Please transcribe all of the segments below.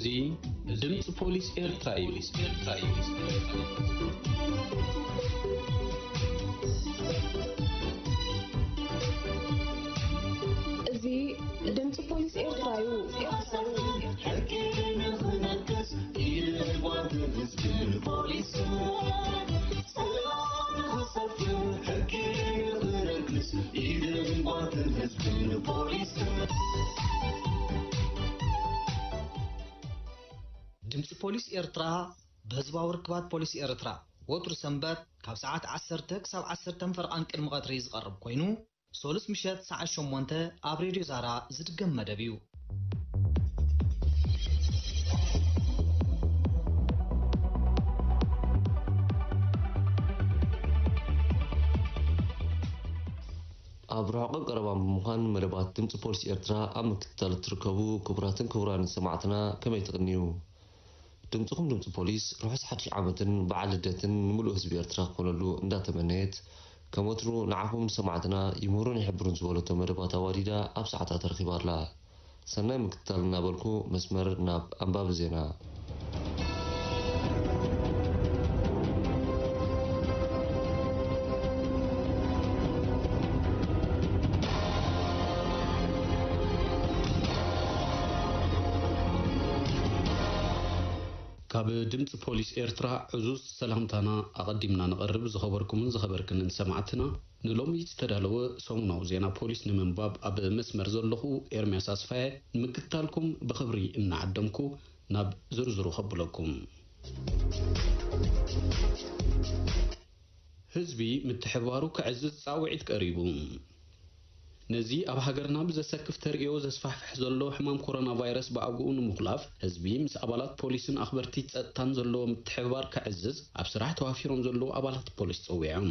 እዚ ድምፂ ፖሊስ ኤርትራ እዩ። እዚ ድምፂ ፖሊስ ኤርትራ እዩ። ሕጊ ንኽነግስ ኢድ ጓንትን ህዝብን ፖሊስን ሰላም ንኽሰፍን፣ ሕጊ ንኽነግስ ኢድ ጓንትን ህዝብን ፖሊስን። ድምፂ ፖሊስ ኤርትራ ብህዝባዊ ርክባት ፖሊስ ኤርትራ ወትሩ ሰንበት ካብ ሰዓት ዓሰርተ ክሳብ ዓሰርተ ፈርቓን ቅድሚ ቀትሪ ዝቐርብ ኮይኑ፣ ሶሉስ ምሸት ሰዓት ሸሞንተ ኣብ ሬድዮ ዛራ ዝድገም መደብ እዩ። ኣብ ርሑቕን ቀረባን ብምዃን መደባት ድምፂ ፖሊስ ኤርትራ ኣብ ምክትታል እትርከቡ ክቡራትን ክቡራንን ሰማዕትና ከመይ ትቕንዩ? ድምፅኹም ድምፂ ፖሊስ ርሑስ ሓድሽ ዓመትን በዓል ልደትን ንምሉእ ህዝቢ ኤርትራ ክኾነሉ እንዳተመነየት፣ ከም ወትሩ ንዓኹም ሰማዕትና ይምህሩን ይሕብሩን ዝበለቶ መደባት ኣዋዲዳ ኣብ ሰዓታ ተረኺባ ኣላ። ሰናይ ምክትታል እናበልኩ መስመር ናብ ኣንባቢ ዜና። ካብ ድምፂ ፖሊስ ኤርትራ ዕዙዝ ሰላምታና ኣቐዲምና ነቐርብ። ዝኸበርኩምን ዝኸበርክንን ሰማዕትና፣ ንሎሚ ዝተዳለወ ሰሙናዊ ዜና ፖሊስ ንምንባብ ኣብ መስመር ዘለኹ ኤርምያስ ኣስፋየ ንምክትታልኩም ብኽብሪ እናዓደምኩ፣ ናብ ዝርዝሩ ከብለኩም። ህዝቢ ምትሕብባሩ ከዕዝዝ ጻውዒት ቀሪቡ። ነዚ ኣብ ሃገርና ብዘሰክፍ ተርእዮ ዘስፋሕፍሕ ዘሎ ሕማም ኮሮና ቫይረስ ብኣግኡ ንምኹላፍ፣ ህዝቢ ምስ ኣባላት ፖሊስን ኣኽበርቲ ጸጥታን ዘለዎ ምትሕብባር ከዕዝዝ ኣብ ስራሕ ተዋፊሮም ዘለዉ ኣባላት ፖሊስ ጸዊዖም።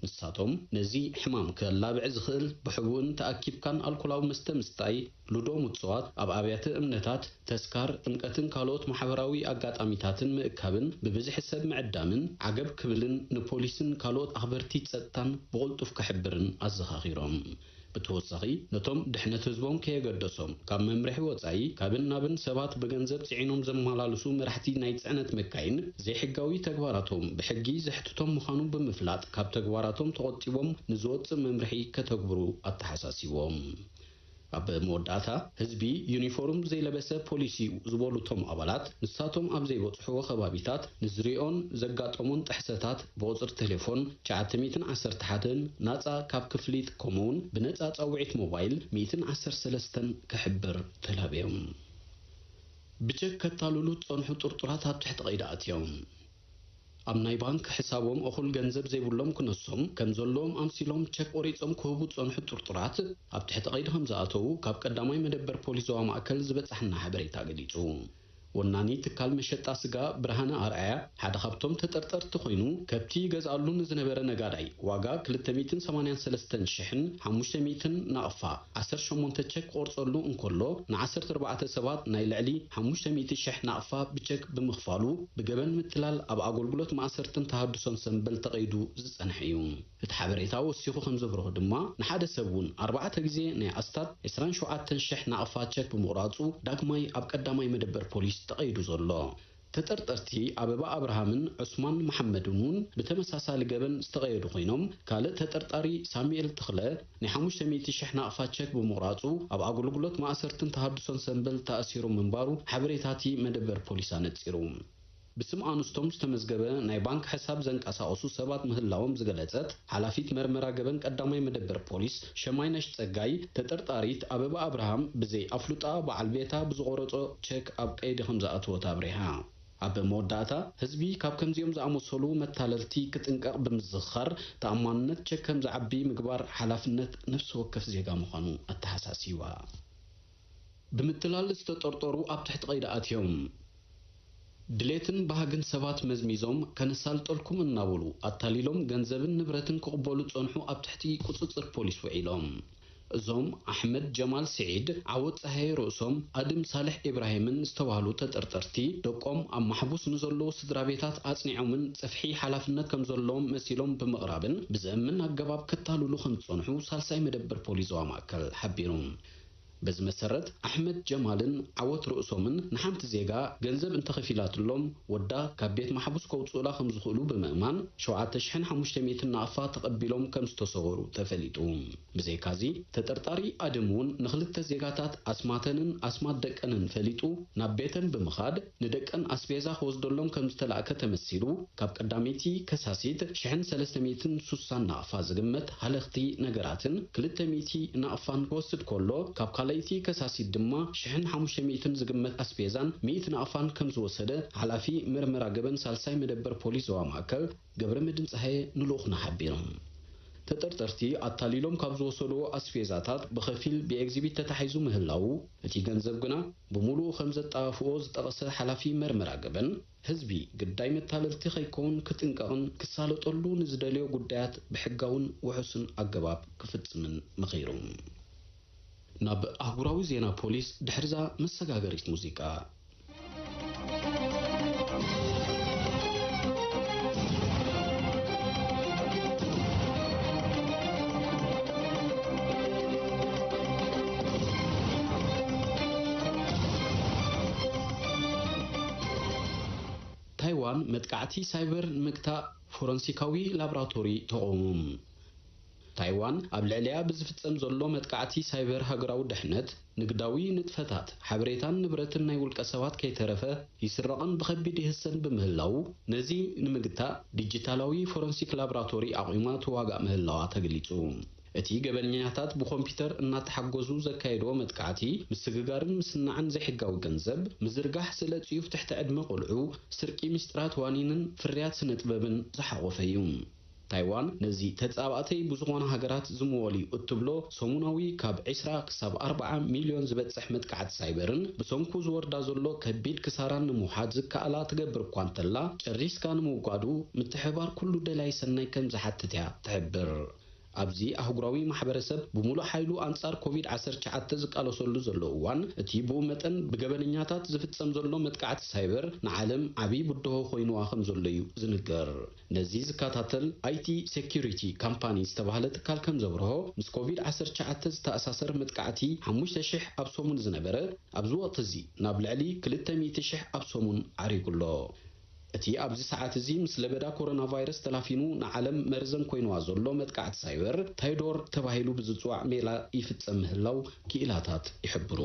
ንሳቶም፣ ነዚ ሕማም ከላብዕ ዝኽእል፣ ብሕቡእን ተኣኪብካን ኣልኮላዊ መስተ ምስታይ፣ ሉዶ ምጽዋት፣ ኣብ ኣብያተ እምነታት፣ ተስካር፣ ጥምቀትን ካልኦት ማሕበራዊ ኣጋጣሚታትን ምእካብን ብብዝሒ ሰብ ምዕዳምን ዓገብ ክብልን ንፖሊስን ካልኦት ኣኽበርቲ ጸጥታን ብቕልጡፍ ክሕብርን ኣዘኻኺሮም። ብተወሳኺ፣ ነቶም ድሕነት ህዝቦም ከየገደሶም ካብ መምርሒ ወጻኢ ካብን ናብን ሰባት ብገንዘብ ጽዒኖም ዘመላልሱ መራሕቲ ናይ ጽዕነት መካይን፣ ዘይሕጋዊ ተግባራቶም ብሕጊ ዘሕትቶም ምዃኑ ብምፍላጥ፣ ካብ ተግባራቶም ተቖጢቦም ንዝወጽእ መምርሒ ከተግብሩ ኣተሓሳሲቦም። ኣብ መወዳእታ፣ ህዝቢ ዩኒፎርም ዘይለበሰ ፖሊስ እዩ ዝበሉ እቶም ኣባላት፣ ንሳቶም ኣብ ዘይበጽሕዎ ከባቢታት ንዝሪኦን ዘጋጠሞን ጥሕሰታት ብቑጽሪ ቴሌፎን ትሽዓተ ሚእትን ዓሰርተ ሓደን ናጻ ካብ ክፍሊት፣ ከምኡውን ብነጻ ጻውዒት ሞባይል ሚእትን ዓሰርተ ሰለስተን ክሕብር ተላብዮም። ብቸክ ከታልሉ ዝጸንሑ ጥርጡራት ኣብ ትሕቲ ቀይዲ ኣትዮም። ኣብ ናይ ባንክ ሕሳቦም እኹል ገንዘብ ዘይብሎም ክነሶም ከም ዘለዎም ኣምሲሎም ቸክ ቆሪጾም ክህቡ ዝጸንሑ ጥርጡራት፣ ኣብ ትሕቲ ቀይዲ ከም ዝኣተዉ ካብ ቀዳማይ መደበር ፖሊስ ዞባ ማእከል ዝበጻሕና ሓበሬታ ገሊጹ። ወናኒ ትካል መሸጣ ስጋ ብርሃነ ኣርኣያ ሓደ ካብቶም ተጠርጠርቲ ኮይኑ፣ ከብቲ ይገዝኣሉ ንዝነበረ ነጋዳይ ዋጋ ክልተ ሚእትን ሰማንያን ሰለስተን ሽሕን ሓሙሽተ ሚእትን ናቕፋ ዓሰርተ ሸሞንተ ቸክ ክቆርጸሉ እንከሎ፣ ን ዓሰርተ ኣርባዕተ ሰባት ናይ ልዕሊ ሓሙሽተ ሚእቲ ሽሕ ናቕፋ ብቸክ ብምኽፋሉ፣ ብገበን ምትላል ኣብ ኣገልግሎት ማእሰርትን ተሃድሶን ሰምበል ተቐይዱ ዝጸንሐ እዩ። እቲ ሓበሬታ ወሲኹ ከም ዘብርሆ ድማ፣ ንሓደ ሰብ እውን ኣርባዕተ ግዜ ናይ ኣስታት ዕስራን ሸውዓተን ሽሕ ናቕፋ ቸክ ብምቑራጹ፣ ዳግማይ ኣብ ቀዳማይ መደበር ፖሊስ ተቐይዱ ዘሎ። ተጠርጠርቲ ኣበባ ኣብርሃምን ዑስማን መሓመድን እውን ብተመሳሳሊ ገበን ዝተቐየዱ ኮይኖም፣ ካልእ ተጠርጣሪ ሳሙኤል ተኽለ ናይ ሓሙሽተ ሚእቲ ሽሕ ናቕፋ ቸክ ብምቑራጹ፣ ኣብ ኣገልግሎት ማእሰርትን ተሃድሶን ሰምበል ተኣሲሩ ምንባሩ ሓበሬታ እቲ መደበር ፖሊስ ኣነጺሩ። ብስም ኣንስቶም ዝተመዝገበ ናይ ባንክ ሕሳብ ዘንቀሳቐሱ ሰባት ምህላዎም ዝገለጸት ሓላፊት መርመራ ገበን ቀዳማይ መደበር ፖሊስ ሸማይነሽ ጸጋይ፣ ተጠርጣሪት ኣበባ ኣብርሃም ብዘይ ኣፍልጣ በዓል ቤታ ብዝቖረጾ ቸክ ኣብ ቀይዲ ከም ዝኣተወት ኣብሪሃ። ኣብ መወዳእታ፣ ህዝቢ ካብ ከምዚኦም ዝኣመሰሉ መታለልቲ ክጥንቀቕ ብምዝኽኻር፣ ተኣማንነት ቸክ ከም ዝዓቢ ምግባር ሓላፍነት ነፍሲ ወከፍ ዜጋ ምዃኑ ኣተሓሳሲባ። ብምትላል ዝተጠርጠሩ ኣብ ትሕቲ ቀይዲ ኣትዮም። ድሌትን ባህግን ሰባት መዝሚዞም ከነሳልጠልኩም እናበሉ ኣታሊሎም ገንዘብን ንብረትን ክቕበሉ ዝጸንሑ ኣብ ትሕቲ ቁጽጽር ፖሊስ ውዒሎም። እዞም ኣሕመድ ጀማል ስዒድ፣ ዓወት ጸሃየ ርእሶም፣ ኣድም ሳልሕ ኢብራሂምን ዝተባህሉ ተጠርጠርቲ፣ ደቆም ኣብ ማሕቡስ ንዘለዉ ስድራ ቤታት ኣጽኒዖምን ጽፍሒ ሓላፍነት ከም ዘለዎም መሲሎም ብምቕራብን ብዘእምን ኣገባብ ከታልሉ ከም ዝጸንሑ ሳልሳይ መደበር ፖሊስ ዞባ ማእከል ሓቢሩ። በዚ መሰረት ኣሕመድ ጀማልን ዓወት ርእሶምን ንሓንቲ ዜጋ ገንዘብ እንተኸፊላትሎም ወዳ ካብ ቤት ማሕቡስ ከውፅኡላ ከም ዝኽእሉ ብምእማን ሸውዓተ ሽሕን ሓሙሽተ ሚእትን ናቕፋ ተቐቢሎም ከም ዝተሰወሩ ተፈሊጡ። ብዘይካዚ ተጠርጣሪ ኣደም እውን ንኽልተ ዜጋታት ኣስማተንን ኣስማት ደቀንን ፈሊጡ ናብ ቤተን ብምኻድ ንደቀን ኣስቤዛ ክወስደሎም ከም ዝተላእከ ተመሲሉ፣ ካብ ቀዳመይቲ ከሳሲት ሽሕን ሰለስተ ሚእትን ሱሳን ናቕፋ ዝግመት ሃለኽቲ ነገራትን ክልተ ሚእቲ ናቕፋን ክወስድ ከሎ፣ ካብ ካልኣይቲ ከሳሲት ድማ ሽሕን ሓሙሽተ ሚእትን ዝግመት ኣስቤዛን ሚእቲ ናቕፋን ከም ዝወሰደ ሓላፊ መርመራ ገበን ሳልሳይ መደበር ፖሊስ ዞባ ማእከል ገብረመድህን ጸሃየ ንልኡኽና ሓቢሮም። ተጠርጠርቲ ኣታሊሎም ካብ ዝወሰድዎ ኣስቤዛታት ብኸፊል ብኤግዚቢት ተታሒዙ ምህላዉ፣ እቲ ገንዘብ ግና ብምሉኡ ከም ዘጠፋፍኦ ዝጠቐሰ ሓላፊ መርመራ ገበን፣ ህዝቢ ግዳይ መታለልቲ ከይከውን ክጥንቀቕን ክሳለጠሉ ንዝደልዮ ጉዳያት ብሕጋውን ውሑስን ኣገባብ ክፍጽምን መኺሩ። ናብ ኣህጉራዊ ዜና ፖሊስ ድሕርዛ መሰጋገሪት ሙዚቃ። ታይዋን መጥቃዕቲ ሳይበር ንምግታእ ፎረንሲካዊ ላብራቶሪ ተቑሙ። ታይዋን ኣብ ልዕሊኣ ብዝፍጸም ዘሎ መጥቃዕቲ ሳይበር ሃገራዊ ድሕነት፣ ንግዳዊ ንጥፈታት፣ ሓበሬታን ንብረትን ናይ ውልቀ ሰባት ከይተረፈ ይስረቕን ብኸቢድ ይህሰን ብምህላዉ፣ ነዚ ንምግታእ ዲጂታላዊ ፎረንሲክ ላብራቶሪ ኣቑማ ትዋጋእ ምህላዋ ተገሊጹ። እቲ ገበነኛታት ብኮምፒውተር እናተሓገዙ ዘካየድዎ መጥቃዕቲ፣ ምስግጋርን ምስናዕን ዘይሕጋዊ ገንዘብ፣ ምዝርጋሕ ስለ ጽዩፍ ትሕቲ ዕድመ ቆልዑ፣ ስርቂ ምስጢራት ዋኒንን ፍርያት ስነ ጥበብን ዝሓቖፈ እዩ። ታይዋን ነዚ ተጻባእተይ ብዝኾና ሃገራት ዝምወል እዩ እትብሎ ሰሙናዊ ካብ ዕስራ ክሳብ ኣርብዓ ሚልዮን ዝበጽሕ መጥቃዕቲ ሳይበርን ብሰንኩ ዝወርዳ ዘሎ ከቢድ ክሳራን ንምውሓድ ዝከኣላ ትገብር እኳ እንተላ፣ ጨሪስካ ንምውጋዱ ምትሕብባር ኩሉ ደላይ ሰናይ ከም ዝሓትት እያ ትሕብር። ኣብዚ ኣህጉራዊ ማሕበረሰብ ብምሉእ ሓይሉ ኣንጻር ኮቪድ ዓሰርተ ትሽዓተ ዝቃለሰሉ ዘሎ እዋን፣ እቲ ብኡ መጠን ብገበነኛታት ዝፍጸም ዘሎ መጥቃዕቲ ሳይበር ንዓለም ዓቢ ብድሆ ኮይንዋ ከም ዘሎ እዩ ዝንገር። ነዚ ዝከታተል ኣይ ቲ ሴኩሪቲ ካምፓኒ ዝተባህለ ትካል ከም ዘብርሆ፣ ምስ ኮቪድ ዓሰርተ ትሽዓተ ዝተኣሳሰር መጥቃዕቲ ሓሙሽተ ሽሕ ኣብ ሰሙን ዝነበረ፣ ኣብዚ ወቕቲ እዚ ናብ ልዕሊ ክልተ ሚእቲ ሽሕ ኣብ ሰሙን ዓሪጉ ኣሎ። እቲ ኣብዚ ሰዓት እዚ ምስ ለበዳ ኮሮና ቫይረስ ተላፊኑ ንዓለም መርዘን ኮይንዋ ዘሎ መጥቃዕቲ ሳይበር ታይዶር ተባሂሉ ብዝጽዋዕ ሜላ ይፍጸም ምህላው ክኢላታት ይሕብሩ።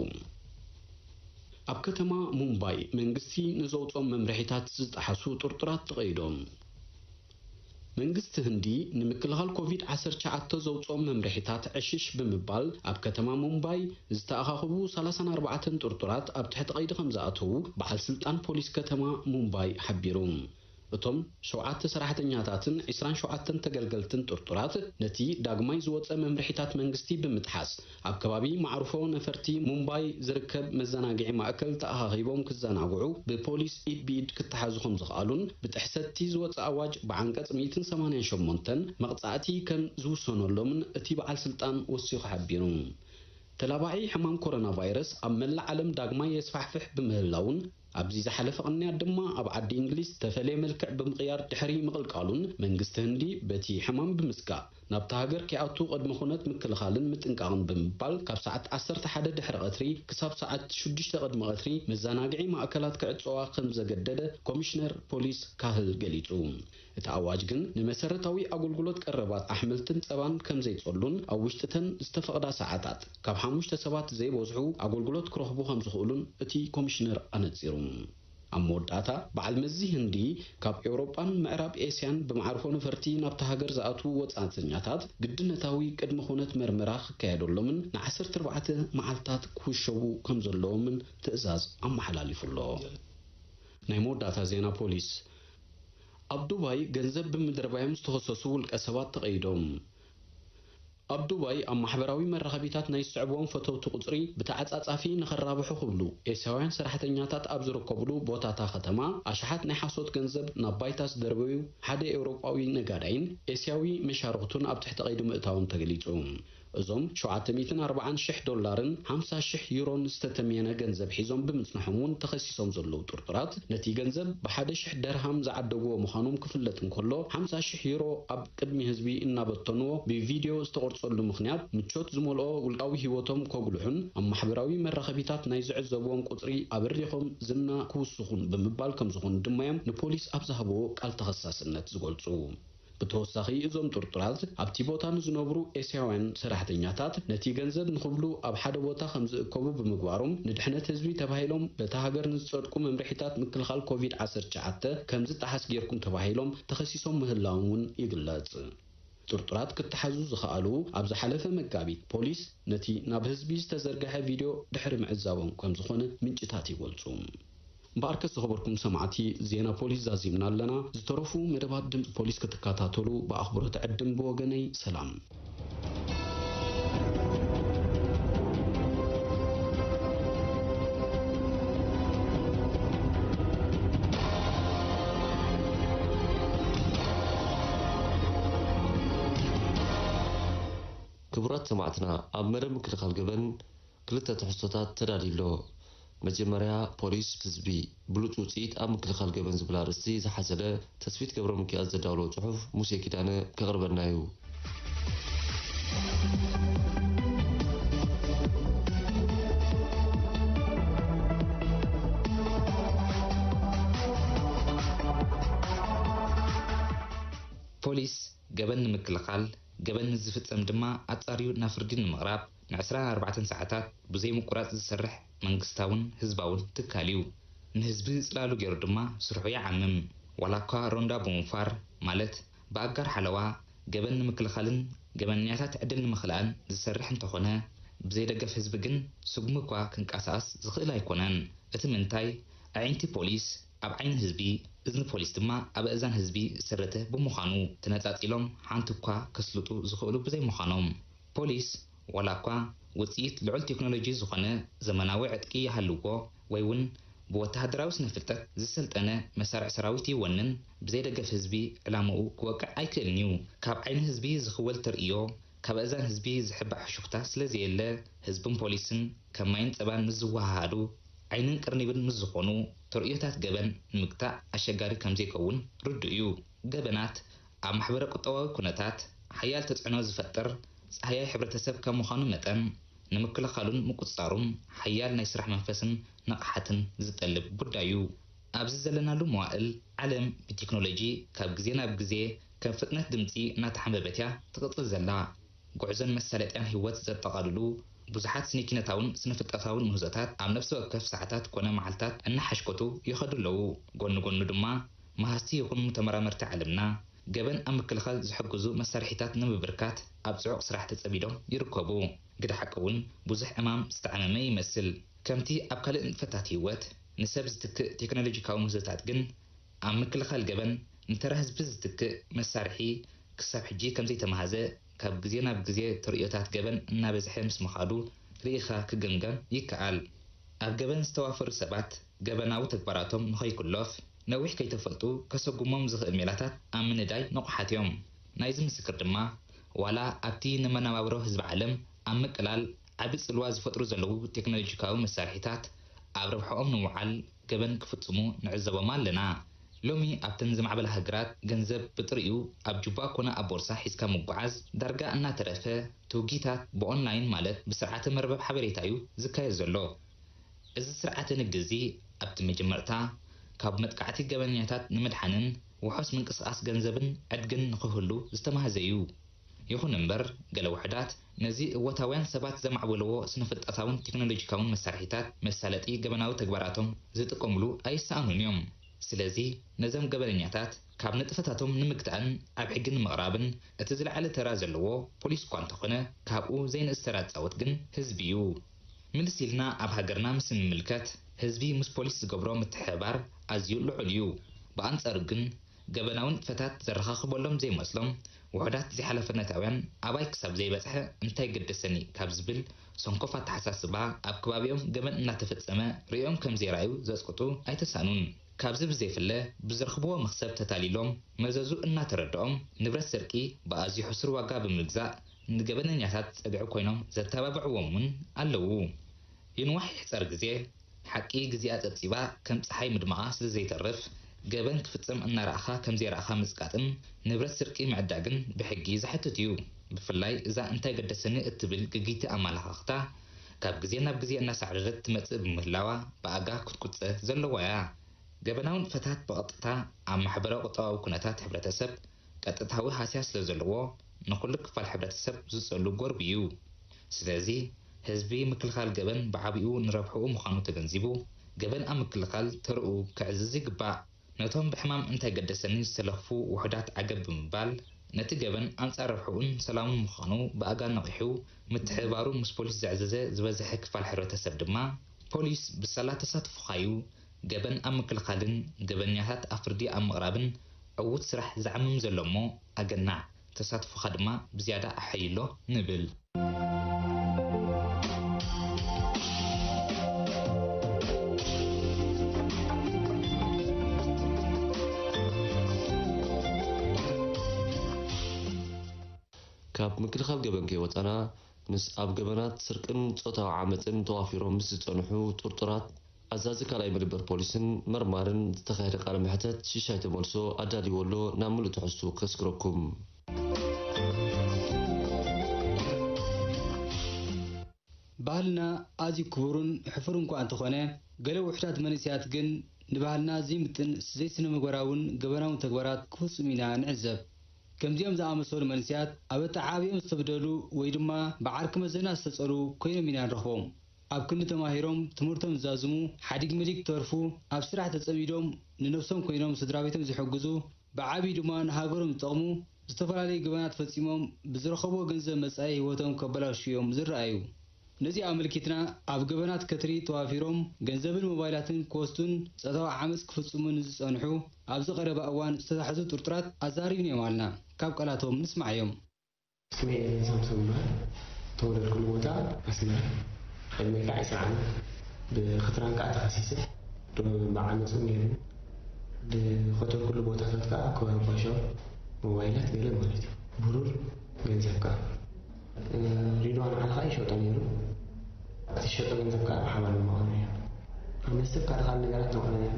ኣብ ከተማ ሙምባይ መንግስቲ ንዘውጾም መምርሒታት ዝጠሓሱ ጥርጡራት ተቐይዶም። መንግስቲ ህንዲ ንምክልኻል ኮቪድ ዓሰርተ ትሽዓተ ዘውጾም መምርሒታት ዕሽሽ ብምባል ኣብ ከተማ ሙምባይ ዝተኣኻኸቡ ሰላሳን ኣርባዕተን ጥርጡራት ኣብ ትሕቲ ቀይዲ ከም ዝኣተዉ በዓል ስልጣን ፖሊስ ከተማ ሙምባይ ሓቢሩ። እቶም ሸውዓተ ሰራሕተኛታትን ዕስራን ሸውዓተን ተገልገልትን ጥርጡራት ነቲ ዳግማይ ዝወጸ መምርሒታት መንግስቲ ብምጥሓስ ኣብ ከባቢ ማዕርፎ ነፈርቲ ሙምባይ ዝርከብ መዘናግዒ ማእከል ተኣኻኺቦም ክዘናግዑ ብፖሊስ ኢድ ብኢድ ክተሓዙ ከም ዝኸኣሉን ብጥሕሰትቲ ዝወጸ ኣዋጅ ብዓንቀጽ ሚእትን ሰማንያን ሸሞንተን መቕጻዕቲ ከም ዝውሰነሎምን እቲ በዓል ስልጣን ወሲኹ ሓቢሩ። ተላባዒ ሕማም ኮሮና ቫይረስ ኣብ መላእ ዓለም ዳግማይ የስፋሕፍሕ ብምህላውን ኣብዚ ዝሓለፈ ቅንያት ድማ ኣብ ዓዲ እንግሊዝ ዝተፈለየ መልክዕ ብምቕያር ድሕሪ ምቕልቃሉን መንግስቲ ህንዲ በቲ ሕማም ብምስጋእ ናብታ ሃገር ከይኣቱ ቅድመ ኩነት ምክልኻልን ምጥንቃቕን ብምባል ካብ ሰዓት ዓሰርተ ሓደ ድሕሪ ቀትሪ ክሳብ ሰዓት ሽዱሽተ ቅድሚ ቀትሪ መዘናግዒ ማእከላት ክዕጸዋ ከም ዘገደደ ኮሚሽነር ፖሊስ ካህል ገሊጹ። እቲ ኣዋጅ ግን ንመሰረታዊ ኣገልግሎት ቀረባት ኣሕምልትን ጸባን ከም ዘይጸሉን ኣብ ውሽጢ እተን ዝተፈቕዳ ሰዓታት ካብ ሓሙሽተ ሰባት ዘይበዝሑ ኣገልግሎት ክረኽቡ ከም ዝኽእሉን እቲ ኮሚሽነር ኣነጺሩ። ኣብ መወዳእታ፣ በዓል መዚ ህንዲ ካብ ኤውሮጳን ምዕራብ ኤስያን ብመዓርፎ ነፈርቲ ናብታ ሃገር ዝኣትዉ ወጻእተኛታት ግድነታዊ ቅድመ ኩነት መርመራ ክካየደሎምን ንዓሰርተ ኣርባዕተ መዓልታት ክውሸቡ ከም ዘለዎምን ትእዛዝ ኣመሓላሊፉ ኣሎ። ናይ መወዳእታ ዜና ፖሊስ። ኣብ ዱባይ ገንዘብ ብምድርባዮም ዝተኸሰሱ ውልቀ ሰባት ተቐይዶም። ኣብ ዱባይ ኣብ ማሕበራዊ መራኸቢታት ናይ ዝስዕብዎም ፈተውቲ ቁጽሪ ብተዓጻጻፊ ንኸራብሑ ክብሉ ኤስያውያን ሰራሕተኛታት ኣብ ዝርከብሉ ቦታታ ከተማ ኣሽሓት ናይ ሓሶት ገንዘብ ናብ ባይታ ዝደርበዩ ሓደ ኤውሮጳዊ ነጋዳይን ኤስያዊ መሻርኽቱን ኣብ ትሕቲ ቀይዲ ምእታዎም ተገሊጹ። እዞም ሸውዓተ ሚእትን ኣርባዓን ሽሕ ዶላርን ሓምሳ ሽሕ ዩሮን ዝተተምየነ ገንዘብ ሒዞም ብምጽናሖም እውን ተኸሲሶም ዘለዉ ጥርጡራት፣ ነቲ ገንዘብ ብሓደ ሽሕ ደርሃም ዝዓደግዎ ምዃኖም ክፍለጥ እንከሎ፣ ሓምሳ ሽሕ ዩሮ ኣብ ቅድሚ ህዝቢ እናበተንዎ ብቪድዮ ዝተቖርጸሉ ምኽንያት፣ ምቾት ዝመልኦ ውልቃዊ ህይወቶም ከጉልሑን ኣብ ማሕበራዊ መራኸቢታት ናይ ዝዕዘብዎም ቁጽሪ ኣብሪኾም ዝና ክውስኹን ብምባል ከም ዝኾኑ ድማ እዮም ንፖሊስ ኣብ ዝሃብዎ ቃል ተኸሳስነት ዝገልጹ። ብተወሳኺ፣ እዞም ጥርጡራት ኣብቲ ቦታ ንዝነብሩ ኤስያውያን ሰራሕተኛታት ነቲ ገንዘብ ንኽብሉ ኣብ ሓደ ቦታ ከም ዝእከቡ ብምግባሮም፣ ንድሕነት ህዝቢ ተባሂሎም በታ ሃገር ንዝጸድቁ መምርሒታት ምክልኻል ኮቪድ ዓሰርተ ትሽዓተ ከም ዝጠሓስ ጌርኩም ተባሂሎም ተኸሲሶም ምህላዎም እውን ይግለጽ። ጥርጡራት ክተሓዙ ዝኸኣሉ፣ ኣብ ዝሓለፈ መጋቢት ፖሊስ ነቲ ናብ ህዝቢ ዝተዘርግሐ ቪድዮ ድሕሪ ምዕዛቦም ከም ዝኾነ ምንጭታት ይገልጹ። እምበኣርከስ ዝኸበርኩም ሰማዕቲ፣ ዜና ፖሊስ ዛዚምና ኣለና። ዝተረፉ መደባት ድምፂ ፖሊስ ክትከታተሉ ብኣኽብሮት ዕድም። ብወገነይ ሰላም። ክቡራት ሰማዕትና፣ ኣብ መደብ ምክልኻል ገበን ክልተ ትሕዝቶታት ተዳልዩ ኣሎ። መጀመርያ፣ ፖሊስ ህዝቢ ብሉጽ ውጽኢት ኣብ ምክልኻል ገበን ዝብል ኣርእስቲ ዝሓዘለ ተስፊት ገብረሚካኤል ዘዳወሎ ጽሑፍ ሙሴ ኪዳነ ከቕርበልና እዩ። ፖሊስ ገበን ንምክልኻል፣ ገበን ንዝፍጸም ድማ ኣጻርዩ ናብ ፍርዲ ንምቕራብ ንዕስራን ኣርባዕተን ሰዓታት ብዘይ ምቁራጽ ዝሰርሕ መንግስታውን ህዝባውን ትካል እዩ። ንህዝቢ ጽላሉ ገይሩ ድማ ስርሑ ይዓምም። ዋላ እኳ ሮንዳ ብምውፋር፣ ማለት ብኣጋር ሓለዋ፣ ገበን ንምክልኻልን ገበነኛታት ዕድል ንምኽላእን ዝሰርሕ እንተኾነ፣ ብዘይ ደገፍ ህዝቢ ግን ስጉሚ እኳ ክንቀሳቐስ ዝኽእል ኣይኮነን። እቲ ምንታይ፣ ኣዒንቲ ፖሊስ ኣብ ዓይኒ ህዝቢ፣ እዝኒ ፖሊስ ድማ ኣብ ኣእዛን ህዝቢ ዝሰረተ ብምዃኑ፣ ተነጻጺሎም ሓንቲ እኳ ከስልጡ ዝኽእሉ ብዘይምዃኖም፣ ፖሊስ ዋላ እኳ ውጽኢት ልዑል ቴክኖሎጂ ዝኾነ ዘመናዊ ዕጥቂ ይሃልዎ ወይ እውን ብወተሃደራዊ ስነ-ፍልጠት ዝሰልጠነ መሳርዕ ሰራዊት ይወንን፣ ብዘይ ደገፍ ህዝቢ ዕላምኡ ክወቅዕ ኣይክእልን እዩ። ካብ ዓይኒ ህዝቢ ዝኽወል ተርእዮ፣ ካብ ኣእዛን ህዝቢ ዝሕባእ ሕሹኽታ ስለዘየለ፣ ህዝብን ፖሊስን ከም ማይን ጸባን ምስ ዝወሃሃዱ፣ ዓይንን ቅርኒብን ምስ ዝኾኑ፣ ተርእዮታት ገበን ንምግታእ ኣሸጋሪ ከምዘይከውን ርዱእ እዩ። ገበናት ኣብ ማሕበረ-ቁጠባዊ ኩነታት ሓያል ተጽዕኖ ዝፈጥር ጻህያይ ሕብረተሰብ ከም ምዃኑ መጠን፣ ንምክልኻሉን ምቁጽጻሩን ሓያል ናይ ስራሕ መንፈስን ንቕሓትን ዝጠልብ ጉዳይ እዩ። ኣብዚ ዘለናሉ መዋእል፣ ዓለም ብቴክኖሎጂ ካብ ግዜ ናብ ግዜ ከም ፍጥነት ድምጺ እናተሓንበበት እያ ትቕጽል ዘላ። ጉዕዞን መሳለጥያን ህይወት ዘጠቓልሉ ብዙሓት ስነ-ኪነታውን ስነ-ፍልጠታውን ምህዞታት ኣብ ነፍሲ ወከፍ ሰዓታት ኮነ መዓልታት እናሓሽከቱ ይኸዱ ኣለዉ። ጎኒ ጎኑ ድማ፣ መሃዝቲ ይኹኑ ተመራመርቲ ዓለምና፣ ገበን ኣብ ምክልኻል ዝሕግዙ መሳርሒታት ንምብርካት ኣብ ጽዑቕ ስራሕ ተጸሚዶም ይርከቡ። ግደ ሓቂ እውን፣ ብዙሕ ዕማም ዝተዓመመ ይመስል። ከምቲ ኣብ ካልእ ንጥፈታት ህይወት፣ ንሰብ ዝትክእ ቴክኖሎጂካዊ ምህዞታት ግን፣ ኣብ ምክልኻል ገበን ንተራ ህዝቢ ዝትክእ መሳርሒ ክሳብ ሕጂ ከምዘይተማህዘ፣ ካብ ግዜ ናብ ግዜ ተርእዮታት ገበን እናበዝሐ ምስ ምኻዱ ርኢኻ ክግምገም ይከኣል። ኣብ ገበን ዝተዋፈሩ ሰባት ገበናዊ ተግባራቶም ንኸይኩለፍ፣ ነዊሕ ከይተፈልጡ ከሰጉሞም ዝኽእል ሜላታት ኣብ ምንዳይ ንቑሓት እዮም። ናይዚ ምስክር ድማ፣ ዋላ ኣብቲ ንመነባብሮ ህዝቢ ዓለም ኣብ ምቅላል ዓቢ ጽልዋ ዝፈጥሩ ዘለዉ ቴክኖሎጂካዊ መሳርሒታት ኣብ ረብሓኦም ንምውዓል ገበን ክፍጽሙ ንዕዘቦም ኣለና። ሎሚ ኣብተን ዝማዕበላ ሃገራት ገንዘብ ብጥሪኡ ኣብ ጁባ ኮነ ኣብ ቦርሳ ሒዝካ ምጉዓዝ ዳርጋ እናተረፈ፣ ትውጊታት ብኦንላይን ማለት ብስርዓተ መርበብ ሓበሬታ እዩ ዝካየድ ዘሎ። እዚ ስርዓተ ንግዲ እዚ ኣብቲ መጀመርታ ካብ መጥቃዕቲ ገበነኛታት ንምድሓንን ውሑስ ምንቅስቓስ ገንዘብን ዕድግን ንኽህሉ ዝተማህዘ እዩ። ይኹን እምበር፣ ገለ ውሑዳት ነዚ እወታውያን ሰባት ዘማዕበልዎ ስነ-ፍልጠታውን ቴክኖሎጂካውን መሳርሒታት መሳለጢ ገበናዊ ተግባራቶም ዝጥቀምሉ ኣይሰኣኑን እዮም። ስለዚ፣ ነዞም ገበነኛታት ካብ ንጥፈታቶም ንምግታእን ኣብ ሕጊ ንምቕራብን እቲ ዝለዓለ ተራ ዘለዎ ፖሊስ እኳ እንተኾነ፣ ካብኡ ዘይንእስ ተራ ዝጻወት ግን ህዝቢ እዩ። ምልስ ኢልና ኣብ ሃገርና ምስ እንምልከት፣ ህዝቢ ምስ ፖሊስ ዝገብሮ ምትሕብባር ኣዝዩ ልዑል እዩ። ብኣንጻሩ ግን፣ ገበናዊ ንጥፈታት ዘረኻኽበሎም ዘይመስሎም ውሑዳት ዘይሓላፍነታውያን፣ ኣባይ ክሳብ ዘይበጽሐ እንታይ ገደሰኒ ካብ ዝብል ሰንኮፍ ኣተሓሳስባ፣ ኣብ ከባቢኦም ገበን እናተፈጸመ ርእዮም ከም ዘይረኣዩ ዘጽቅጡ ኣይተሳእኑን። ካብዚ ብዘይፍለ፣ ብዝረኽብዎ መኽሰብ ተታሊሎም፣ መዘዙ እናተረድኦም፣ ንብረት ስርቂ ብኣዝዩ ሕሱር ዋጋ ብምግዛእ፣ ንገበነኛታት ጸግዒ ኮይኖም ዘተባብዕዎም እውን ኣለዉ። ይንዋሕ ይሕጸር ግዜ፣ ሓቂ ግዜኣ ጸብጺባ ከም ጸሓይ ምድማቓ ስለ ዘይተርፍ፣ ገበን ክፍጸም እናረኣኻ ከም ዘይረኣኻ ምጽቃጥን ንብረት ስርቂ ምዕዳግን ብሕጊ ዘሕትት እዩ። ብፍላይ እዛ እንታይ ገደሰኒ እትብል ግግይቲ ኣመለኻኽታ፣ ካብ ግዜ ናብ ግዜ እናሳዕረረት ትመጽእ ብምህላዋ፣ ብኣጋ ክትቁጸ ዘለዋ እያ። ገበናዊ ንጥፈታት ብቐጥታ ኣብ ማሕበራዊ ቁጠባዊ ኩነታት ሕብረተሰብ ቀጥታዊ ሃስያ ስለ ዘለዎ፣ ንኹሉ ክፋል ሕብረተሰብ ዝጸሉ ጎርቢ እዩ። ስለዚ፣ ህዝቢ ምክልኻል ገበን ብዓቢኡ ንረብሕኡ ምዃኑ ተገንዚቡ፣ ገበን ኣብ ምክልኻል ተርኡ ከዕዝዝ ይግባእ። ነቶም ብሕማም እንታይ ገደሰኒ ዝተለኽፉ ውሑዳት ዓገብ ብምባል፣ ነቲ ገበን ኣንጻር ረብሕኡን ሰላሙን ምዃኑ ብኣጋ ነቒሑ ምትሕብባሩ ምስ ፖሊስ ዘዕዘዘ ዝበዝሐ ክፋል ሕብረተሰብ ድማ፣ ፖሊስ ብሳላ ተሳትፎኻ'ዩ ገበን ኣብ ምክልኻልን ገበነኛታት ኣብ ፍርዲ ኣብ ምቕራብን ዕዉት ስራሕ ዝዓምም ዘሎ እሞ፣ ኣገናዕ፣ ተሳትፎኻ ድማ ብዝያዳ ኣሐይሎ ንብል። ካብ ምክልኻል ገበን ከይወጻና፣ ምስ ኣብ ገበናት ስርቅን ጾታዊ ዓመጽን ተዋፊሮም ምስ ዝጸንሑ ጥርጡራት፣ ኣዛዚ ካልኣይ መደበር ፖሊስን መርማርን ዝተኻየደ ቃለ መሕተት ሽሻይ ተመልሶ ኣዳልይዎ ኣሎ፣ ናብ ምሉእ ትሕዝትኡ ከስግረኩም። ባህልና ኣዝዩ ክቡርን ሕፉርን እኳ እንተኾነ፣ ገለ ውሑዳት መንእሰያት ግን ንባህልና ዘይምጥን ዘይስነ ምግባራውን ገበናውን ተግባራት ክፍጽሙ ኢና ንዕዘብ። ከምዚኦም ዝኣመሰሉ መንእሰያት ኣብ ኣተዓባብያኦም ዝተበደሉ ወይ ድማ ብዓርኪ መዘና ዝተጸልዉ ኮይኖም ኢና ንረኽቦም። ኣብ ክንዲ ተማሂሮም ትምህርቶም ዝዛዝሙ፣ ሓዲግ መዲግ ክተርፉ፣ ኣብ ስራሕ ተጸሚዶም ንነብሶም ኮይኖም ስድራቤቶም ዝሕግዙ፣ ብዓቢኡ ድማ ንሃገሮም ዝጠቕሙ ዝተፈላለዩ ገበናት ፈጺሞም ብዝረኸብዎ ገንዘብ መጻኢ ህይወቶም ከበላሽዉ እዮም ዝረኣዩ። ነዚ ኣመልኪትና ኣብ ገበናት ከትሪ ተዋፊሮም ገንዘብን ሞባይላትን ክወስዱን ጾታዊ ዓመጽ ክፍጽሙ ንዝጸንሑ ኣብዚ ቀረባ እዋን ዝተታሕዙ ጥርጡራት ኣዛሪብናዮም ኣልና። ካብ ቃላቶም ንስማዓዮም። ስመይ ኤለን ሳምሶን ይበሃል። ተወለድኩሉ ቦታ ኣስመራ። ዕድመይ ከዓ ዕስራ ዓመት። ብክትራን ከዓ ተኸሲሰ። ዶ ብዓመፅ እውን ነይሩኒ። ዝኸተልኩሉ ቦታታት ከዓ ከባቢ ባሻው ሞባይላት ገለ ማለት እዩ። ብሩር ገንዘብ ከዓ እ፣ ሪድዋን ዓሊ ከዓ ይሸጦ ነይሩ። እቲ ዝሸጦ ገንዘብ ከዓ ብሓባር ነማቕሎ ነይሩ። ኣብ መስተ ካልእ ካልእ ነገራት ነውዕሎ ነይሩ።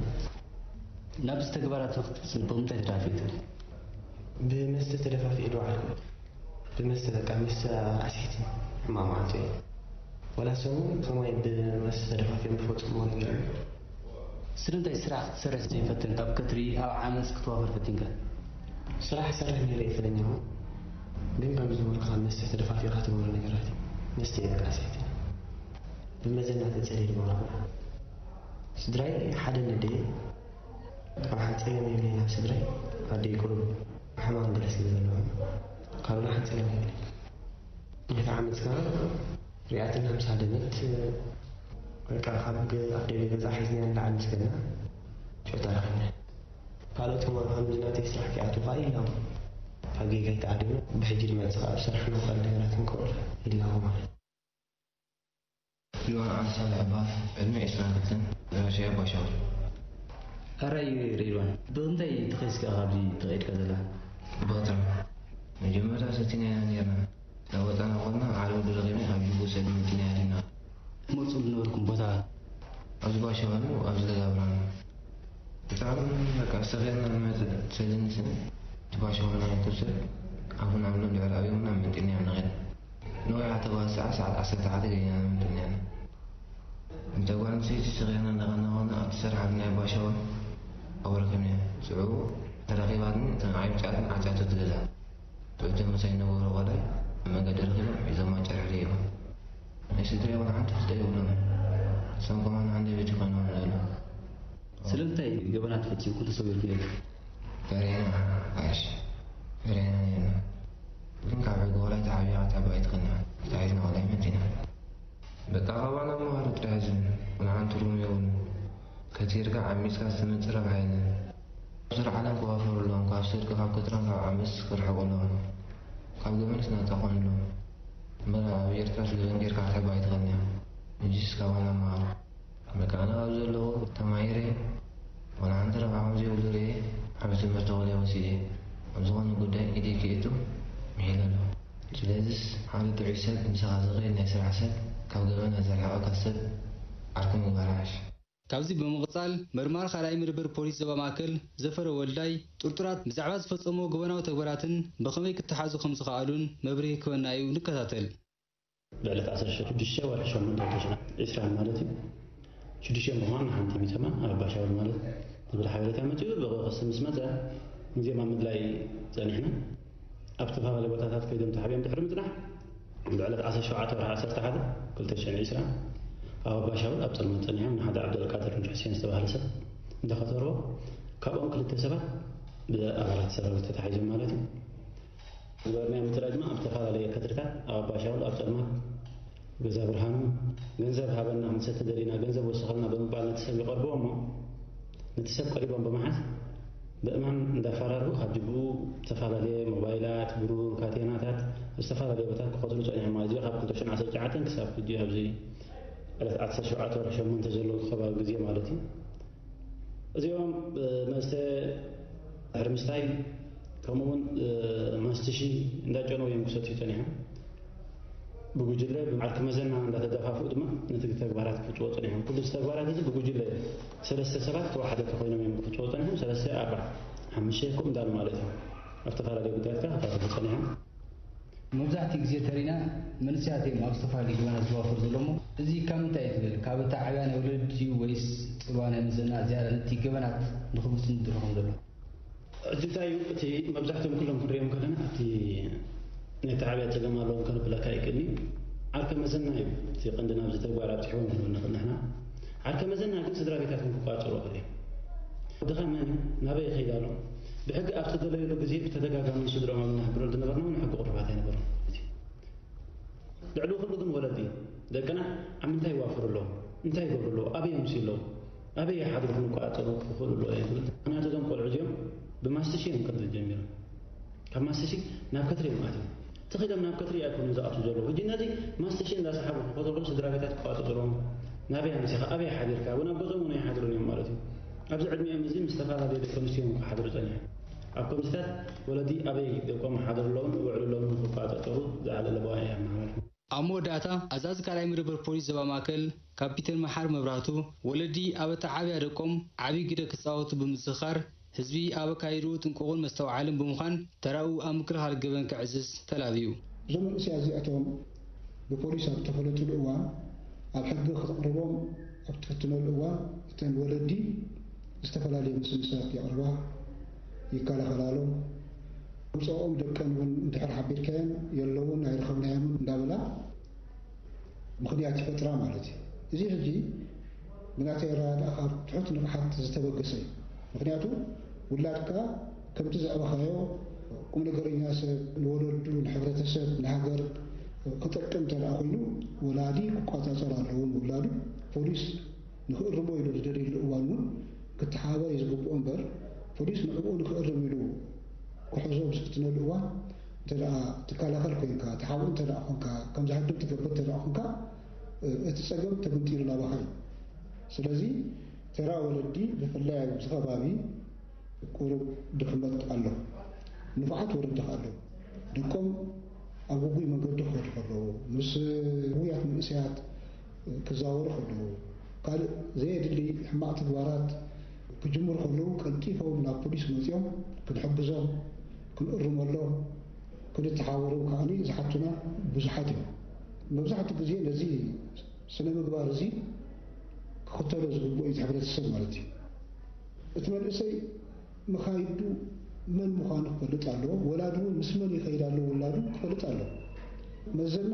ናብዚ ተግባራት ንክትብጽሕ ብምንታይ ተደፋፊእካ? ብመስተ ተደፋፊኤ ዶ ዓርኩ? ብመስተ በቃ መስተ ኣስሒትኒ ሕማቕ መዓልቲ እየ። ዋላ ሰሙን ከማይ ብመስተ ተደፋፊኦም ዝፈጽምዎ ነገር እዩ። ስለምንታይ ስራሕ ክትሰርሕ ዘይፈተንካ ኣብ ከትሪ ኣብ ዓመጽ ክትዋፈር ፈቲንካ? ስራሕ እሰርሕ ነይረ እየ ፈለኛውን ግን ከምዚ ዝበልኩ ካብ መስተ ተደፋፊእካ ትገብሮ ነገራት እዩ። መስተ እየ በቃ ኣስሒትኒ። ብመዘና ተጸልየ ዝገበርኩ። ስድራይ ሓደ ነደይ ካብ ሓንቲ ጸገም የብለይ ናብ ስድራይ ኣደይ ቁሩብ ሕማም ገለ ስለ ዘለዎም ካልእ ሓንቲ ጸገም የብለይ። ነታ ዓመት ከኣ ሪኣትና ምስ ሃደመት በቃ ካብ ኣደይ ገዛ ሒዝናያ ንላዕሊ ምስ ከድና ሸቶ ረኺብና። ካልኦት ከማን ከምዚ ናተይ ስራሕ ክኣትዉ ከኣ ይላሙ ካብ ጌጋይ ተኣሪምና ብሕጂ ዝመጽእ ከኣ ዝሰርሕና ካልእ ነገራት ክንከውል ይላሙ ማለት እዩ። ሪድዋን ዓሊ ሳልሕ እበሃል። ዕድመይ ዕስራን ክልተን። ዝመሸ ኣባሻውል። ሕራይ ሪድዋን፣ ብኽንደይ ተኸይስካ ኢኻ ኣብዚ ተቐይድካ ዘለኻ? ብኽትራ። መጀመርታ ሰቲናያ ነይርና። ናብ ወጻና ከድና ዓርቢ ድረኺብና ኣብ ጅቡቲ ሰልዲ መጺና ኣቲና። ትመጽኡ ዝነበርኩም ቦታ? ኣብዚ ባሻውል ኣብዚ ገዛ ብርሃኑ። ብጣዕሚ በቃ ሰኺርና ንመጽእ ሰልዲ ንስነ። እቲ ባሻውል ናይ ክብሰል ኣፉና ብሎም ድሕሪ ኣብዮምና መንጢልና ኢና ንኸይድ። ንውሕ ኣተባስዓ ሰዓት ዓሰርተ ሓደ ገይና ነመንጥልንያና። እንተ ጓል ኣንስተይቲ ሰኺርና እንዳቐናቐና ኣብቲ ሰርሓ ብናይ ባሻውን ኣወርክንያ። ሽዑ ተረኺባትኒ እተን ዓብጫትን ዓጫቶ ትገዛ። ብእቶም ምሳይ ነበሩ ቆላይ ኣብ መንገዲ ረኺቦም ሒዞማ ጨርሕሪቦም። ናይ ስድራይ ዋላ ሓንቲ ፍልጠ የብሎምን። እሶም ከማን ሃንደበቲ ኮይኖም ኣለዉ። ስለምንታይ ገበናት ፈጺምኩም ተሰዊርኩም ኢልካ? ፈሪሕና ጋሽ ፈሪሕና ኔርና ግን ካብ ሕጊ ወላይ ተሓቢኻ ክትሕቦ ኣይትኽእልን ኢኻ ተታሒዝና ወላይ መጺና በቃ ካባና መሃሪ ጥራሕ ዝብል ወላ ሓንቲ ትርጉም የብሉን ከቲርካ ዓሚጽካ ዝተመጽእ ረብሓ የለን ኣብ ዙር ዓለም ክዋፈሩ ኣለዎም ካብ ስርቂ ካብ ክትራን ካብ ዓመጽ ክርሕቁ ኣለዎም ካብ ገበንስ ናጻ ክኾኑ ኣለዎም እምበር ኣብ ኤርትራስ ገበን ጌርካ ክትሕቦ ኣይትኽእልን ኢኻ ሕጂስ ካባና መሃሩ በቃ ኣነ ካብዚ ዘለኹ ተማሂረ ዋላ ሓንቲ ረብሓ ከምዘይብሉ ርእየ ዓቢ ትምህርቲ ወልየ ወሲደ ኣብ ዝኾነ ጉዳይ ኢደይ ከየእቱ ምሒለ ኣለኹ። ስለዚስ ሓደ ጥዑይ ሰብ፣ ምሳኻ ዝኸይድ ናይ ስራሕ ሰብ፣ ካብ ገበን ዘርሕቐካ ሰብ ዓርኪ ምግባር ይሓይሽ። ካብዚ ብምቕጻል፣ መርማሪ ካልኣይ መደበር ፖሊስ ዞባ ማእከል ዘፈረ ወልዳይ፣ ጥርጡራት ብዛዕባ ዝፈጸምዎ ገበናዊ ተግባራትን ብኸመይ ክተሓዙ ከም ዝኸኣሉን መብርሂ ክህበና እዩ። ንከታተል። ብዕለት ዓሰርተ ሽዱሽተ ወርሒ ሸሞንተ ክልተ ሽሕን ዕስራን ማለት እዩ። ሽዱሽተ ምዃን ሓንቲ ሚተማ ኣብ ባሻውል ማለት ዝብል ሓበሬታ መጺኡ፣ ብክሲ ምስ መጸ፣ ግዜ ኣብ ምድላይ ጸኒሕና። ኣብ ዝተፈላለዩ ቦታታት ከይዶም ተሓቢኦም ድሕሪ ምጽናሕ፣ ብዕለት ዓሰርተ ሸውዓተ ወርሒ ዓሰርተ ሓደ ክልተ ሽሕን ዕስራን ኣብ ኣባሻውል ኣብ ጸልማት ጸኒሖም ንሓደ ዓብደልቃድር ኑር ሕሴን ዝተባህለ ሰብ እንዳኸተርዎ፣ ካብኦም ክልተ ሰባት ብኣባላት ሰራዊት ተታሒዞም ማለት እዩ። ዝገበርናዮ ምጽራይ ድማ ኣብ ዝተፈላለየ ቀትርታት ኣብ ኣባሻውል ኣብ ጸልማት ገዛ ብርሃኑ ገንዘብ ሃበና፣ ክንሰቲ ደሊና፣ ገንዘብ ወስኸልና ብምባል ነቲ ሰብ ይቐርብዎ እሞ፣ ነቲ ሰብ ቀሪቦም ብምሓዝ ብእማን እንዳፈራርሁ ካብ ጅብኡ ዝተፈላለየ ሞባይላት፣ ብሩር፣ ካቴናታት፣ ዝተፈላለየ ቦታት ክኸትሉ ጸኒሖም ማለት እዩ። ካብ ክልተ ሽሕን ዓሰርተ ትሽዓተን ክሳብ ሕጂ ኣብዚ ዕለት ዓሰርተ ሸውዓተ ወርሒ ሸሞንተ ዘሎ ከባቢ ግዜ ማለት እዩ። እዚኦም፣ እ፣ መስተ ድሕሪ ምስታይ፣ ከምኡውን፣ እ፣ ማስትሺ እንዳጨነው እዮም ክሰትዩ ጸኒሖም። ብጉጅለ፣ ብዓርኪ መዘና እንዳተደፋፍኡ ድማ ነቲ ተግባራት ክፍጽዎ ጸኒሖም። ኩሉ እዚ ተግባራት እዚ ብጉጅለ ሰለስተ ሰባት ተዋሓደቲ ኮይኖም እዮም ክፍጽዎ ጸኒሖም። ሰለስተ፣ ኣርባዕተ፣ ሓሙሽተ ከምኡ እንዳሉ ማለት እዩ። ኣብ ዝተፈላለዩ ጉዳያት ከዓ ክሳተፉ ጸኒሖም። መብዛሕትኡ ግዜ ተሪና መንእሰያት እዮም ኣብ ዝተፈላለዩ ገበናት ዝዋፈሩ ዘሎ እሞ፣ እዚ ካብ ምንታይ እዩ ትብል? ካብ ኣተዓብያ ናይ ወለዲ ድዩ ወይስ ጽልዋ ናይ መዘና ዝያዳ ነቲ ገበናት ንኽምስን ዝድርኾም ዘሎ? ሕጂ እንታይ እዩ እቲ መብዛሕትኦም ኩሎም ክንሪኦም ከለና ኣብቲ ናይ ኣተዓብያ ጸገም ኣለዎም ከነብለካ ኣይክእልን እዩ። ዓርከ መዘና እዩ እቲ ቀንዲ ናብዚ ተግባር ኣብጺሕዎም ክንብል ንኽእል ንሕና። ዓርከ መዘና ግን ስድራ ቤታቶም ክቋጸሩ ይኽእል እዩ። ወድኻ መን እዩ? ናበይ ይኸይድ ኣሎ? ብሕጊ ኣብ ዝተደለየሉ ግዜ ብተደጋጋሚ ንስድሮኦም ኣብ ነሕብረሉ ዝነበርና እውን ሕጊ ቅሩባት ኣይነበሮም። ልዕሊ ኩሉ ግን ወለዲ ደቅና ኣብ ምንታይ ይዋፈሩ ኣለዉ? እንታይ ይገብሩ ኣለዉ? ኣበይ ይምስዩ ኣለዉ? ኣበይ ይሓድሩ? ክንቆጻጸሩ ክኽእሉ ኣለዉ እየ ዝብል። ምኽንያቱ እዞም ቆልዑ እዚኦም ብማስትሽ እዮም ከትሪ ጀሚሮም። ካብ ማስትሽ ናብ ከትሪ እዮም ኣትዮም። ተኺሎም ናብ ከትሪ ኣይኮኑን ዝኣትዉ ዘለዉ። ሕጂ ነዚ ማስትሽ እንዳሰሓቡ ክኸዱ ከለዉ ስድራ ቤታት ክቆጻጸርዎም፣ ናበይ ኣምሲኻ? ኣበይ ሓዲርካ? እውን ኣብ ገዝኦም እውን ኣይሓድሩን እዮም ማለት እዩ። ኣብዚ ዕድሚኦም እዚ ምስ ዝተፈላለዩ ደቂ ኣንስትዮ እዮም ክሓድሩ ጸኒሖም። ኣብ ከምዚታት ወለዲ ኣበይ ደቆም ይሓድሩ ኣለዉን ይውዕሉ ኣለዉን ክቆጻጸሩ ዝዓለለ ባእያ የመሓላልፉ። ኣብ መወዳእታ፣ ኣዛዚ ካልኣይ መደበር ፖሊስ ዞባ ማእከል ካፒተን መሓር መብራህቱ፣ ወለዲ ኣብ ኣተዓብያ ደቆም ዓቢ ግደ ክጻወቱ ብምዝኽኻር፣ ህዝቢ ኣብ ኣካይድኡ ጥንቁቕን መስተውዓልን ብምዃን፣ ተራኡ ኣብ ምክልኻል ገበን ከዕዝዝ ተላብዩ። እዞም መንእሰያት እዚኣቶም ብፖሊስ ኣብ እተፈለጡሉ እዋን፣ ኣብ ሕጊ ክትቕርቦም ኣብ ትፍትነሉ እዋን፣ እተን ወለዲ ዝተፈላለየ ምስምሳት የቕርባ፣ ይከላኸላሎም። ውፅኦም ደቀን እውን እንድሕር ሓቢርካየን የለውን ኣይረኸብናዮምን እንዳበላ ምኽንያት ይፈጥራ ማለት እዩ። እዚ ሕጂ ብናተይ ኣረዳድኣ ካብ ትሑት ንቕሓት ዝተበገሰ እዩ። ምኽንያቱ ውላድካ ከምቲ ዘዕበኻዮ ቁም ነገረኛ ሰብ፣ ንወለዱ፣ ንሕብረተሰብ፣ ንሃገር ክጠቅም እንተ ደኣ ኮይኑ፣ ወላዲ ክቆጻጸር ኣለዎ ንውላዱ። ፖሊስ ንኽእርሞ ኢሉ ዝደልየሉ እዋን እውን ክተሓባበር እዩ ዝግብኦ እምበር፣ ፖሊስ ንዕኡ ንኽእርም ኢሉ ክሕዞ ኣብ ዝፍትነሉ እዋን፣ እንተ ደኣ ትከላኸል ኮይንካ፣ ትሓብኡ እንተ ደኣ ኮንካ፣ ከም ዝሃድም ትገብር እንተ ደኣ ኮንካ፣ እቲ ጸገም ተገምጢሉ ናባኻ እዩ። ስለዚ ተራ ወለዲ ብፍላይ ኣብዚ ከባቢ ቁሩብ ድኽመት ኣሎ። ንፉዓት ወለዲ ከኣ ኣለዉ። ደቆም ኣብ ግጉይ መንገዲ ክኸዱ ከለዉ፣ ምስ ውጉያት መንእሰያት ክዛወሩ ከለዉ፣ ካልእ ዘየድሊ ሕማቕ ተግባራት ክጅምሩ ከለዉ፣ ቀልጢፎም ናብ ፖሊስ መጺኦም ክንሕግዞም፣ ክንእርመሎም፣ ክንተሓባበሮም ከኣ ዝሓቱና ብዙሓት እዮም። መብዛሕትኡ ግዜ ነዚ ስነ ምግባር እዚ ክኽተሎ ዝግብኦ እዩ እቲ ሕብረተሰብ ማለት እዩ። እቲ መንእሰይ መኻይዱ መን ምዃኑ ክፈልጥ ኣለዎ። ወላዱ እውን ምስ መን ይኸይድ ኣሎ ውላዱ ክፈልጥ ኣለዎ። መዘና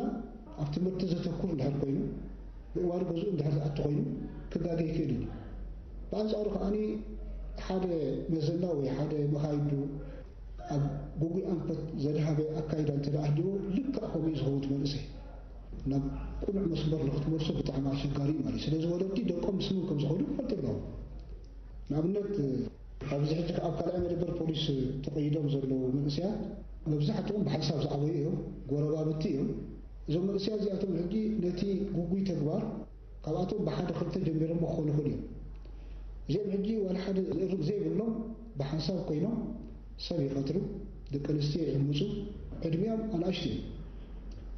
ኣብ ትምህርቲ ዘተኩር እንድሕር ኮይኑ፣ ብእዋኑ ገዝኡ እንድሕር ዝኣቱ ኮይኑ፣ ክጋገ ይኽእል እዩ። ብኣንጻሩ ከኣ ሓደ መዘና ወይ ሓደ መኻይዱ ኣብ ግጉይ ኣንፈት ዘድሃበ ኣካይዳ እንተ ደኣ ኣህልዎ፣ ልክዕ ከምኡ እዩ ዝኸውን እቲ መንእሰይ። ናብ ቅኑዕ መስመር ንክትመልሶ ብጣዕሚ ኣሸጋሪ እዩ ማለት እዩ። ስለዚ ወለዲ ደቆም ምስ መን ከም ዝኸዱ ክፈልጡ ኣለዎም። ንኣብነት፣ ኣብዚ ሕጂ ኣብ ካልኣይ መደበር ፖሊስ ተቐይዶም ዘለዉ መንእሰያት መብዛሕትኦም ብሓንሳብ ዝዓበዩ እዮም፣ ጎረባብቲ እዮም። እዞም መንእሰያት እዚኣቶም ሕጂ ነቲ ግጉይ ተግባር ካብኣቶም ብሓደ ክልተ ጀሚሮም ክኾኑ ይኽእሉ እዮም። እዚኦም ሕጂ ዋላ ሓደ ዝእርም ዘይብሎም ብሓንሳብ ኮይኖም ሰብ ይኸትሩ፣ ደቂ ኣንስትዮ ይዕምፁ፣ ዕድሚኦም ኣናእሽቱ እዮም።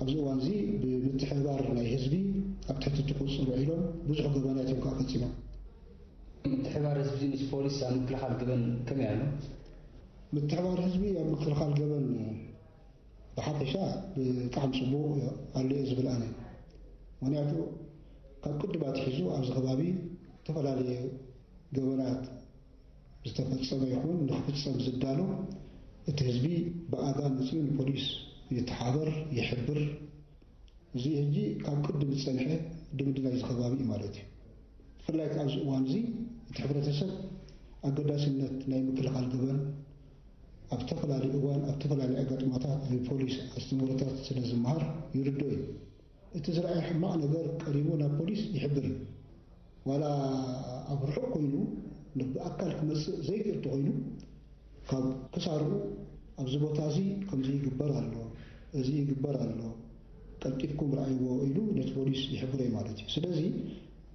ኣብዚ እዋን እዚ ብምትሕብባር ናይ ህዝቢ ኣብ ትሕቲ እቲ ቁፅፅር ውዒሎም ብዙሕ ገበናት እዮም ከዓ ፈፂሞም። ምትሕብባር ህዝቢ ምስ ፖሊስ ኣብ ምክልኻል ገበን ከመይ ኣሎ? ምትሕብባር ህዝቢ ኣብ ምክልኻል ገበን ብሓፈሻ ብጣዕሚ ፅቡቕ ኣሎ እየ ዝብል ኣነ። ምክንያቱ ካብ ቅድም ኣትሒዙ ኣብዚ ከባቢ ዝተፈላለየ ገበናት ዝተፈፀመ ይኹን ንክፍፀም ዝዳሎ እቲ ህዝቢ ብኣጋ መፂኡ ንፖሊስ ይተሓበር፣ ይሕብር። እዚ ሕጂ ካብ ቅድም ዝፀንሐ ድምድናይ እዚ ከባቢ እዩ ማለት እዩ። ብፍላይ ኣብዚ እዋን እዚ እቲ ሕብረተሰብ ኣገዳስነት ናይ ምክልኻል ገበን ኣብ ዝተፈላለዩ እዋን ኣብ ዝተፈላለዩ ኣጋጣሚታት ብፖሊስ ኣስተምህሮታት ስለ ዝመሃር ይርድኦ እዩ። እቲ ዝረኣየ ሕማቕ ነገር ቀሪቡ ናብ ፖሊስ ይሕብር እዩ። ዋላ ኣብ ርሑቕ ኮይኑ ብኣካል ክመጽእ ዘይክእል እንተኾይኑ ካብ ክሳርኡ ኣብዚ ቦታ እዚ ከምዚ ይግበር ኣሎ፣ እዚ ይግበር ኣሎ፣ ቀልጢፍኩም ረኣይዎ ኢሉ ነቲ ፖሊስ ይሕብሮ እዩ ማለት እዩ። ስለዚ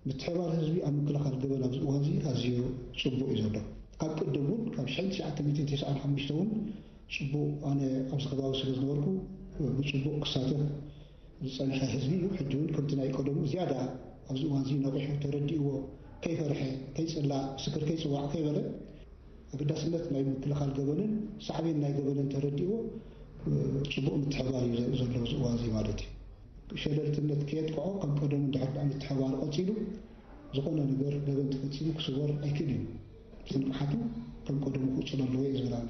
ምትሕብባር ህዝቢ ኣብ ምክልኻል ገበን ኣብዚ እዋን እዚ ኣዝዩ ጽቡቕ እዩ ዘሎ። ካብ ቅድም እውን ካብ ሽሕን ትሽዓተ ሚእትን ተስዓን ሓሙሽተን እውን ጽቡቕ ኣነ ኣብዚ ከባቢ ስለ ዝነበርኩ ብጽቡቕ ክሳተፍ ዝጸንሐ ህዝቢ እዩ። ሕጂ እውን ከምቲ ናይ ቀደሙ ዝያዳ ኣብዚ እዋን እዚ ነቒሑ ተረዲእዎ ከይፈርሐ ከይጽላእ ምስክር ከይጽዋዕ ከይበለ ኣገዳስነት ናይ ምክልኻል ገበንን ሳዕቤን ናይ ገበንን ተረዲእዎ ጽቡቕ ምትሕብባር እዩ ዘርኢ ዘሎ ኣብዚ እዋን እዚ ማለት እዩ። ሸለልትነት ከየጥቅዖ ከም ቀደሙ እንድሕር ደኣ ምትሕብባር ቀጺሉ ዝኾነ ነገር ገበን ተፈጺሙ ክስወር ኣይክእል እዩ። ብዝንቕሓቱ ከም ቀደሙ ክቕጽል ኣለዎ እየ ዝብል ኣነ።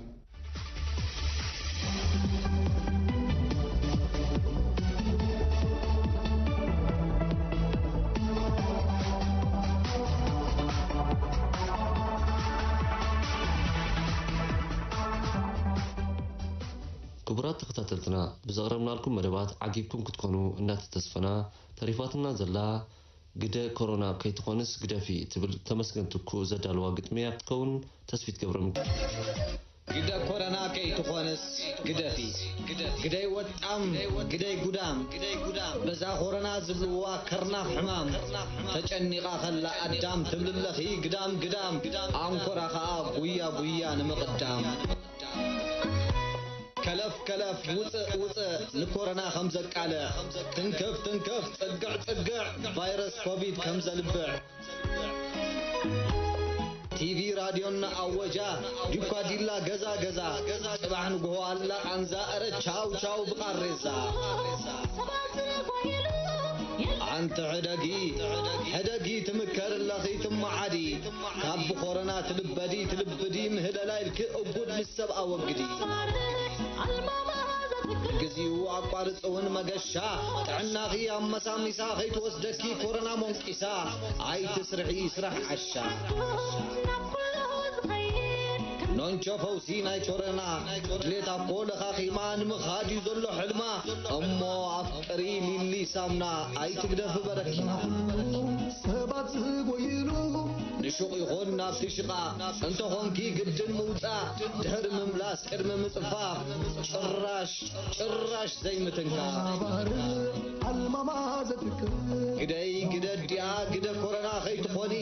ክቡራት ተኸታተልትና፣ ብዘቕረብናልኩም መደባት ዓጊብኩም ክትኮኑ እናተተስፈና፣ ተሪፋትና ዘላ ግደ ኮሮና ከይትኾንስ ግደፊ ትብል ተመስገን ትኩ ዘዳልዋ ግጥሚ እያ ክትከውን። ተስፊት ገብረሚካኤል። ግደ ኮረና ከይትኾንስ ግደፊ። ግደይ ወጣም ግደይ ጉዳም። በዛ ኮረና ዝብልዋ ከርናፍ ሕማም ተጨኒቓ ከላ ኣዳም ትብልለኺ ግዳም ግዳም። ኣንኮራ ኸኣ ጉያ ጉያ ንምቕዳም። ከለፍ ከለፍ ውፅእ ውፅእ ንኮረና ከም ዘቃልዕ። ትንክፍ ትንክፍ ፅግዕ ፅግዕ ቫይረስ ኮቪድ ከም ዘልብዕ። ቲቪ ራድዮ እናኣወጃ ዲኳ ዲላ ገዛ ገዛ። ፅባሕ ንግሆ ኣላ ቃንዛ እረ ቻው ቻው ብቓሬዛ። ኣንቲ ሕደጊ ሕደጊ ትምከር ኣለኺ ትመዓዲ። ካብ ብኮረና ትልበዲ ትልብዲ ምህለላ ኢልኪ እጉድ ምስ ሰብ ኣወግዲ። ግዜኡ ኣቋርፂ እውን መገሻ ጥዕናኺ ኣመሳሚሳ ከይትወስደኪ ኮረና ሞንቂሳ ኣይትስርሒ ስራሕ ዓሻ። ኖንቾ ፈውሲ ናይ ኮረና ድሌታ እኮ ለኻኺማ ንምኻድ እዩ ዘሎ ሕልማ። እሞ ኣፍቅሪ ሊሊ ሳምና ኣይትግደፊ በረኪና። ሰባት ዝጎይሉ ንሹቕ ይኹን ናብቲ ሽቓ እንተኾንኪ ግድን ምውፃእ ድሕሪ ምምላስ ቅድሚ ምፅፋፍ ጭራሽ ጭራሽ ዘይምትንካ። ግደይ ግደ ዲኣ ግደ ኮረና ከይትኾኒ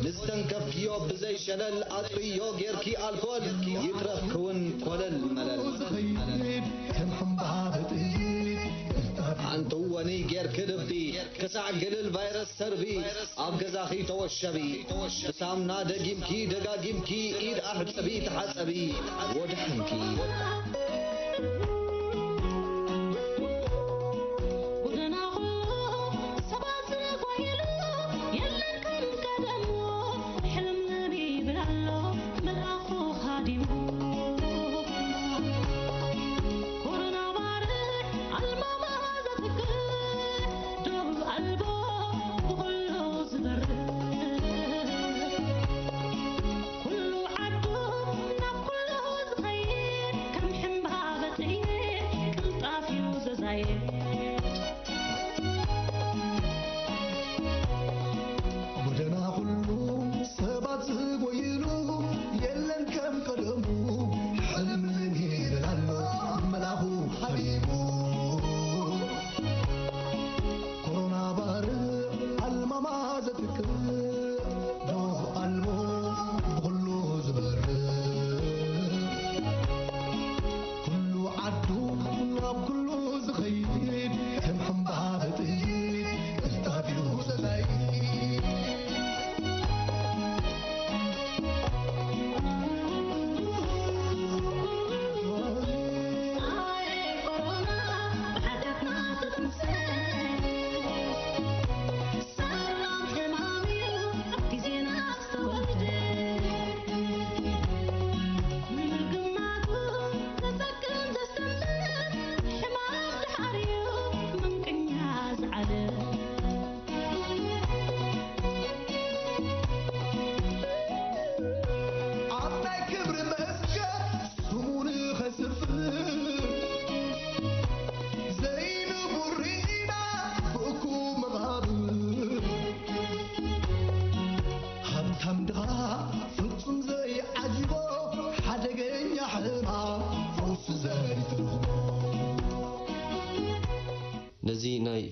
ንዝተንከፍክዮ ብዘይ ሸለል ኣጥርዮ ጌርኪ ኣልኮል ይትረፍኪ እውን ኮለል መለል። ሓንቲ ወኒ ጌርኪ ልቢ ክሳዕ ግልል ቫይረስ ሰርቢ ኣብ ገዛኺ ተወሸቢ። ብሳምና ደጊምኪ ደጋጊምኪ ኢድ ኣሕጽቢ ተሓጸቢ ወድሓንኪ።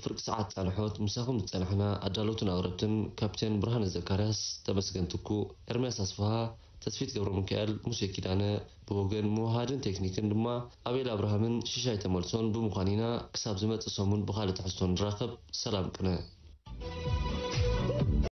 ፍርቂ ሰዓት ጻንሖት ምሳኹም ዝጸናሕና ኣዳለውትን ኣቕረብትን ካፕቴን ብርሃነ ዘካርያስ፣ ተመስገን ትኩ፣ ኤርምያስ ኣስፍሃ፣ ተስፊት ገብረ ሚካኤል፣ ሙሴ ኪዳነ። ብወገን ምውሃድን ቴክኒክን ድማ ኣቤል ኣብርሃምን ሽሻይ ተመልሶን ብምዃን ኢና ክሳብ ዝመጽእ ሰሙን ብኻልእ ትሕዝቶ ንራኸብ። ሰላም ቅነ።